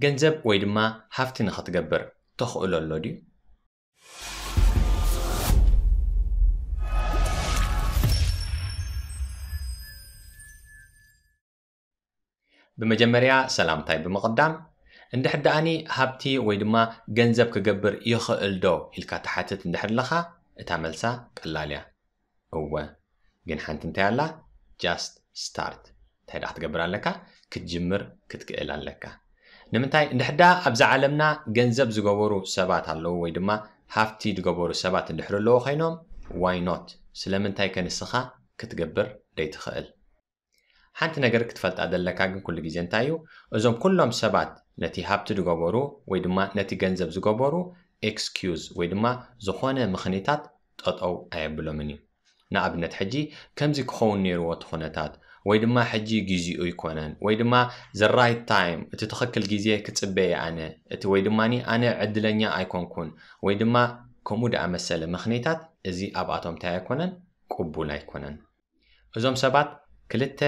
ገንዘብ ወይ ድማ ሃፍቲ ንኽትገብር ተኽእሎ ኣሎ ድዩ? ብመጀመርያ ሰላምታይ ብምቕዳም፣ እንድሕር ደኣኒ ሃብቲ ወይ ድማ ገንዘብ ክገብር ይኽእል ዶ ኢልካ ትሓትት እንድሕር ኣለኻ፣ እታ መልሳ ቀላል እያ። እወ፣ ግን ሓንቲ እንታይ ኣላ? Just start። እንታይ ደኣ ክትገብር ኣለካ? ክትጅምር ክትክእል ኣለካ። ንምንታይ? እንድሕር ደኣ ኣብዛ ዓለምና ገንዘብ ዝገበሩ ሰባት ኣለዉ ወይ ድማ ሃፍቲ ዝገበሩ ሰባት እንድሕር ኣለዉ ኮይኖም፣ why not? ስለምንታይ ከ ንስኻ ክትገብር ደይትኽእል? ሓንቲ ነገር ክትፈልጣ ዘለካ ግን ኩሉ ግዜ እንታይ እዩ? እዞም ኩሎም ሰባት ነቲ ሃብቲ ዝገበሩ ወይ ድማ ነቲ ገንዘብ ዝገበሩ ኤክስኪዩዝ ወይ ድማ ዝኾነ ምኽኒታት ጠጠው ኣየብሎምን እዩ። ንኣብነት ሕጂ ከምዚ ክኸውን ነይርዎ እቲ ኩነታት ወይ ድማ ሕጂ ግዚኡ ኣይኮነን ወይ ድማ the right time እቲ ትኽክል ግዜ ክጽበየ ኣነ እቲ ወይ ድማ ኣነ ዕድለኛ ኣይኮንኩን ወይ ድማ ከምኡ ደኣ መሰለ ምኽኒታት እዚ ኣብኣቶም እንታይ ኣይኮነን ቅቡል ኣይኮነን። እዞም ሰባት ክልተ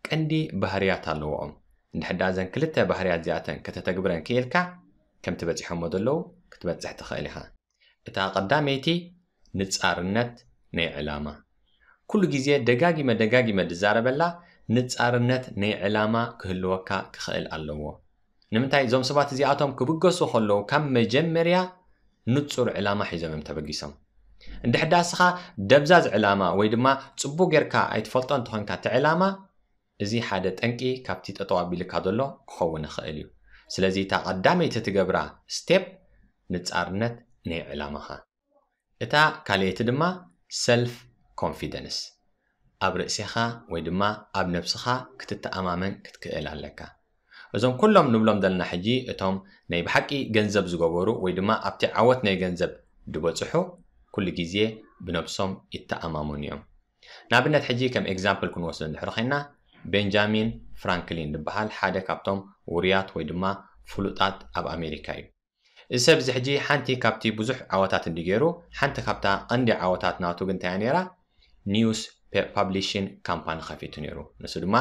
ቀንዲ ባህርያት ኣለዎም። እንድሕዳ እዘን ክልተ ባህርያት እዚኣተን ከተተግብረን ክኢልካ ከምቲ በጺሖሞ ዘለዉ ክትበጽሕ ትኽእል ኢኻ። እታ ቀዳመይቲ ንጻርነት ናይ ዕላማ። ኩሉ ግዜ ደጋጊመ ደጋጊመ ዝዛረበላ ንጻርነት ናይ ዕላማ ክህልወካ ክኽእል ኣለዎ። ንምንታይ እዞም ሰባት እዚኣቶም ክብገሱ ከለዉ ካብ መጀመርያ ንጹር ዕላማ ሒዞም እዮም ተበጊሶም። እንድሕዳ እስኻ ደብዛዝ ዕላማ ወይ ድማ ጽቡቅ ጌርካ ኣይትፈልጦ እንተኾንካ እቲ ዕላማ እዚ ሓደ ጠንቂ ካብቲ ጠጠው ኣቢልካ ዘሎ ክኸውን ይኽእል እዩ። ስለዚ እታ ቀዳመይቲ ትገብራ ስቴፕ ንጻርነት ናይ ዕላማኻ። እታ ካልኣይቲ ድማ ሰልፍ ኮንፊደንስ። ኣብ ርእሴኻ ወይ ድማ ኣብ ነብስኻ ክትተኣማመን ክትክእል ኣለካ። እዞም ኩሎም ንብሎም ዘለና ሕጂ እቶም ናይ ብሓቂ ገንዘብ ዝገበሩ ወይ ድማ ኣብቲ ዓወት ናይ ገንዘብ ዝበጽሑ ኩሉ ግዜ ብነብሶም ይተኣማመኑ እዮም። ንኣብነት ሕጂ ከም ኤግዛምፕል ክንወስዶ እንድሕር ኮይና ቤንጃሚን ፍራንክሊን ዝበሃል ሓደ ካብቶም ውሩያት ወይ ድማ ፍሉጣት ኣብ ኣሜሪካ እዩ። እዚ ሰብ እዚ ሕጂ ሓንቲ ካብቲ ብዙሕ ዓወታት እንዲ ገይሩ ሓንቲ ካብታ ቀንዲ ዓወታት ናቱ ግን እንታይ እያ ነይራ? ኒውስ ፓብሊሽን ካምፓኒ ከፊቱ ነይሩ። ንሱ ድማ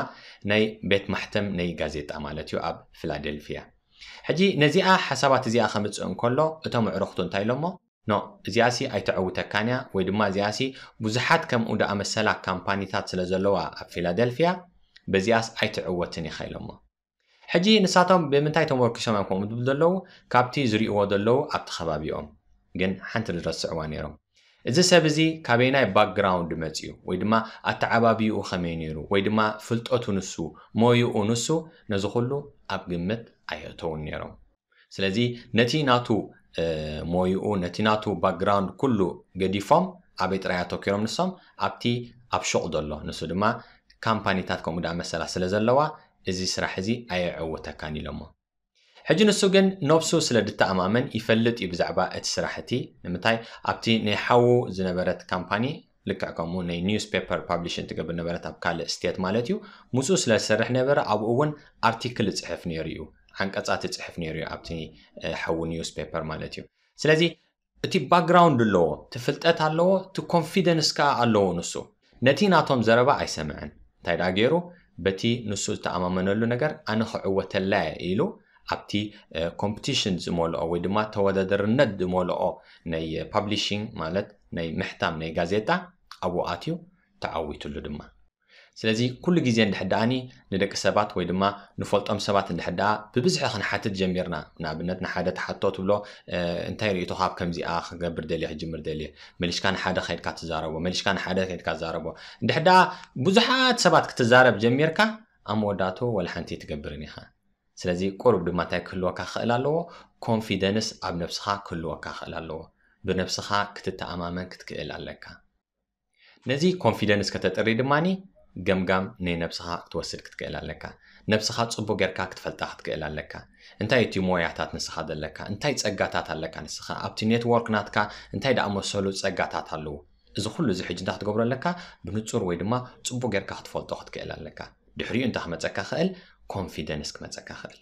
ናይ ቤት ማሕተም ናይ ጋዜጣ ማለት እዩ ኣብ ፊላደልፊያ። ሕጂ ነዚኣ ሓሳባት እዚኣ ከምፅእ እንከሎ እቶም ኣዕሩኽቱ እንታይ ኢሎሞ? ኖ፣ እዚኣሲ ኣይተዕውተካን እያ ወይ ድማ እዚኣሲ ብዙሓት ከምኡ ደኣ መሰላ ካምፓኒታት ስለ ዘለዋ ኣብ ፊላደልፊያ በዚኣስ ኣይትዕወትን ኢኻ ኢሎሞ። ሕጂ ንሳቶም ብምንታይ ተመርኪሶም እዮም ከምኡ ዝብሉ ዘለዉ? ካብቲ ዝርእይዎ ዘለዉ ኣብቲ ከባቢኦም። ግን ሓንቲ ዝረስዕዋ ነይሮም። እዚ ሰብ እዚ ካበይናይ ባክግራውንድ መጺኡ ወይ ድማ ኣተዓባቢኡ ከመይ ነይሩ ወይ ድማ ፍልጠቱ ንሱ ሞይኡ ንሱ ነዚ ኩሉ ኣብ ግምት ኣየእተውን ነይሮም። ስለዚ ነቲ ናቱ ሞይኡ ነቲ ናቱ ባክግራውንድ ኩሉ ገዲፎም ኣበይ ጥራይ ኣተኪሮም ንሶም ኣብቲ ኣብ ሹቕ ዘሎ ንሱ ድማ ካምፓኒታት ከምኡ ደኣ መሰላ ስለ ዘለዋ እዚ ስራሕ እዚ ኣየዕውተካን ኢሎሞ። ሕጂ ንሱ ግን ነብሱ ስለ ድተኣማመን ይፈልጥ እዩ ብዛዕባ እቲ ስራሕ እቲ ንምንታይ ኣብቲ ናይ ሓዉ ዝነበረት ካምፓኒ ልክዕ ከምኡ ናይ ኒውስ ፔፐር ፓብሊሽን ትገብር ነበረት ኣብ ካልእ ስቴት ማለት እዩ። ምስኡ ስለ ዝሰርሕ ነበረ ኣብኡ እውን ኣርቲክል ይፅሕፍ ነይሩ እዩ፣ ዓንቀፃት ይፅሕፍ ነይሩ እዩ ኣብቲ ሓዉ ኒውስ ፔፐር ማለት እዩ። ስለዚ እቲ ባክግራውንድ ኣለዎ፣ እቲ ፍልጠት ኣለዎ፣ እቲ ኮንፊደንስ ከዓ ኣለዎ ንሱ። ነቲ ናቶም ዘረባ ኣይሰምዐን። እንታይ ደኣ ገይሩ? በቲ ንሱ ዝተኣማመነሉ ነገር ኣነ ክዕወተላ እየ ኢሉ ኣብቲ ኮምፒቲሽን ዝመልኦ ወይ ድማ ተወዳደርነት ዝመልኦ ናይ ፓብሊሽንግ ማለት ናይ ምሕታም ናይ ጋዜጣ ኣብኡ ኣትዩ ተዓዊትሉ ድማ። ስለዚ ኩሉ ግዜ እንድሕር ደኣኒ ንደቂ ሰባት ወይ ድማ ንፈልጦም ሰባት እንድሕር ደኣ ብብዝሒ ክንሓትት ጀሚርና፣ ንኣብነት ንሓደ ትሓቶ ትብሎ እንታይ ርእይቶኻ ኣብ ከምዚኣ ክገብር ደልየ ክጅምር ደልየ፣ መሊሽካ ንሓደ ከይድካ ትዛረቦ፣ መሊሽካ ንሓደ ከይድካ ትዛረቦ። እንድሕር ደኣ ብዙሓት ሰባት ክትዛረብ ጀሚርካ ኣብ መወዳእቱ ወላ ሓንቲ ትገብርን ኢኻ። ስለዚ ቁሩብ ድማ እንታይ ክህልወካ ክኽእል ኣለዎ? ኮንፊደንስ ኣብ ነብስኻ ክህልወካ ክኽእል ኣለዎ። ብነብስኻ ክትተኣማመን ክትክእል ኣለካ። ነዚ ኮንፊደንስ ከተጥሪ ድማኒ ገምጋም ናይ ነብስኻ ክትወስድ ክትክእል ኣለካ። ነብስኻ ጽቡቅ ጌርካ ክትፈልጣ ክትክእል ኣለካ። እንታይ እቲ ሞያታት ንስኻ ዘለካ? እንታይ ጸጋታት ኣለካ ንስኻ? ኣብቲ ኔትወርክ ናትካ እንታይ ደኣ መሰሉ ጸጋታት ኣለዉ? እዚ ኩሉ እዚ ሕጂ እንታይ ክትገብሮ ኣለካ? ብንጹር ወይ ድማ ጽቡቅ ጌርካ ክትፈልጦ ክትክእል ኣለካ። ድሕሪኡ እንታይ ክመጸካ ክእል? ኮንፊደንስ ክመጸካ ክእል።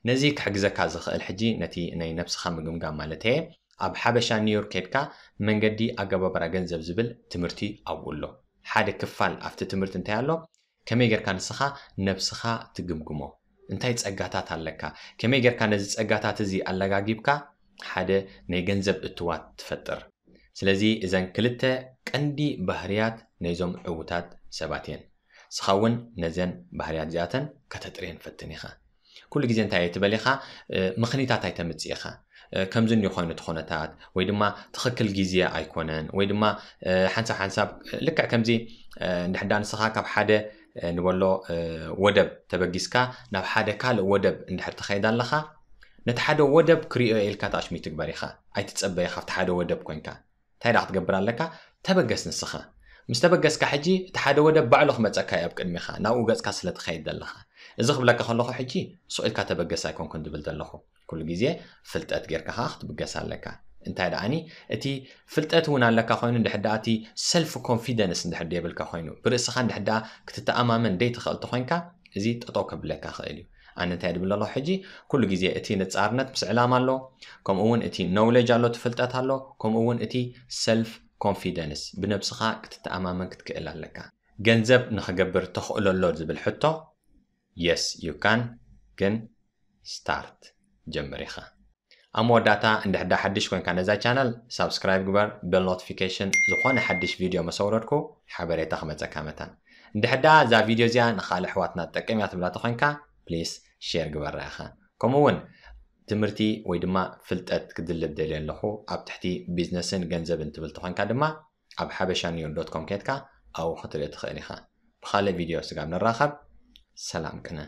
ነዚ ክሕግዘካ ዝኽእል ሕጂ ነቲ ናይ ነብስኻ ምግምጋም ማለት እየ ኣብ ሓበሻ ኒውዮርክ ከድካ መንገዲ ኣገባብራ ገንዘብ ዝብል ትምህርቲ ኣብኡ ኣሎ። ሓደ ክፋል ኣብቲ ትምህርቲ እንታይ ኣሎ? ከመይ ጌርካ ንስኻ ነብስኻ ትግምግሞ። እንታይ ጸጋታት ኣለካ? ከመይ ጌርካ ነዚ ጸጋታት እዚ ኣለጋጊብካ ሓደ ናይ ገንዘብ እትዋት ትፈጥር? ስለዚ እዘን ክልተ ቀንዲ ባህርያት ናይዞም ዕዉታት ሰባት እየን። ንስኻ እውን ነዘን ባህርያት እዚኣተን ከተጥርየን ፈትን ኢኻ። ኩሉ ግዜ እንታይ እየ ትበል ኢኻ? ምኽኒታት ኣይተምጽእ ኢኻ። ከምዚ እንዲ ኮይኑ እቲ ኩነታት ወይ ድማ ትኽክል ግዜ ኣይኮነን ወይ ድማ ሓንሳብ ሓንሳብ ልክዕ ከምዚ እንድሕዳ ንስኻ ካብ ሓደ ንበሎ ወደብ ተበጊስካ ናብ ሓደ ካልእ ወደብ እንድሕር ትኸይድ ኣለኻ፣ ነቲ ሓደ ወደብ ክሪኦ ኢልካ ተኣሽሚት ትግበር ኢኻ። ኣይትጸበ ኢኻ ኣብቲ ሓደ ወደብ ኮንካ እንታይ ደኣ ክትገብር ኣለካ? ተበገስ ንስኻ። ምስ ተበገስካ ሕጂ እቲ ሓደ ወደብ ባዕሉ ክመጸካ እዩ ኣብ ቅድሚኻ፣ ናብኡ ገጽካ ስለ ትኸይድ ዘለኻ። እዚ ክብለካ ከለኹ ሕጂ ሱቕ ኢልካ ተበገስ ኣይኮንኩን ዝብል ዘለኹ። ኩሉ ግዜ ፍልጠት ጌርካ ኸዓ ክትብገስ ኣለካ። እንታይ ደኣኒ እቲ ፍልጠት እውን ኣለካ ኮይኑ እንድሕር ደኣ እቲ ሰልፍ ኮንፊደንስ እንድሕር ደየብልካ ኮይኑ ብርእስኻ እንድሕር ደኣ ክትተኣማመን ደይትኽእል ተኾይንካ እዚ ጠጠው ከብለካ ኽእል እዩ። ኣነ እንታይ ድብል ኣለኹ ሕጂ ኩሉ ግዜ እቲ ንጻርነት ምስ ዕላማ ኣሎ፣ ከምኡ እውን እቲ ኖውለጅ ኣሎ፣ እቲ ፍልጠት ኣሎ፣ ከምኡ እውን እቲ ሰልፍ ኮንፊደንስ ብነብስኻ ክትተኣማመን ክትክእል ኣለካ። ገንዘብ ንኽገብር ተኽእሎ ኣሎ ዝብል ሕቶ yes you can ግን ስታርት ጀምር ኢኻ። ኣብ መወዳእታ እንድሕር ዳ ሓድሽ ኮይንካ ነዛ ቻነል ሳብስክራይብ ግበር፣ ቤል ኖቲፊኬሽን ዝኾነ ሓድሽ ቪድዮ መሰውረድኩ ሓበሬታ ክመፀካ መታን። እንድሕር ዳ እዛ ቪድዮ እዚኣ ንኻልእ ኣሕዋትና ትጠቅም እያ ትብላ ተኾይንካ ፕሊስ ሼር ግበራ ኢኻ። ከምኡ እውን ትምህርቲ ወይ ድማ ፍልጠት ክድልብ ደልየ ኣለኹ ኣብ ትሕቲ ቢዝነስን ገንዘብን ትብል ተኾይንካ ድማ ኣብ ሓበሻ ኒውል ዶት ኮም ኬድካ ኣብኡ ክትርኢ ትኽእል ኢኻ። ብኻልእ ቪድዮ ስጋብ ንራኸብ ሰላም ቅነ።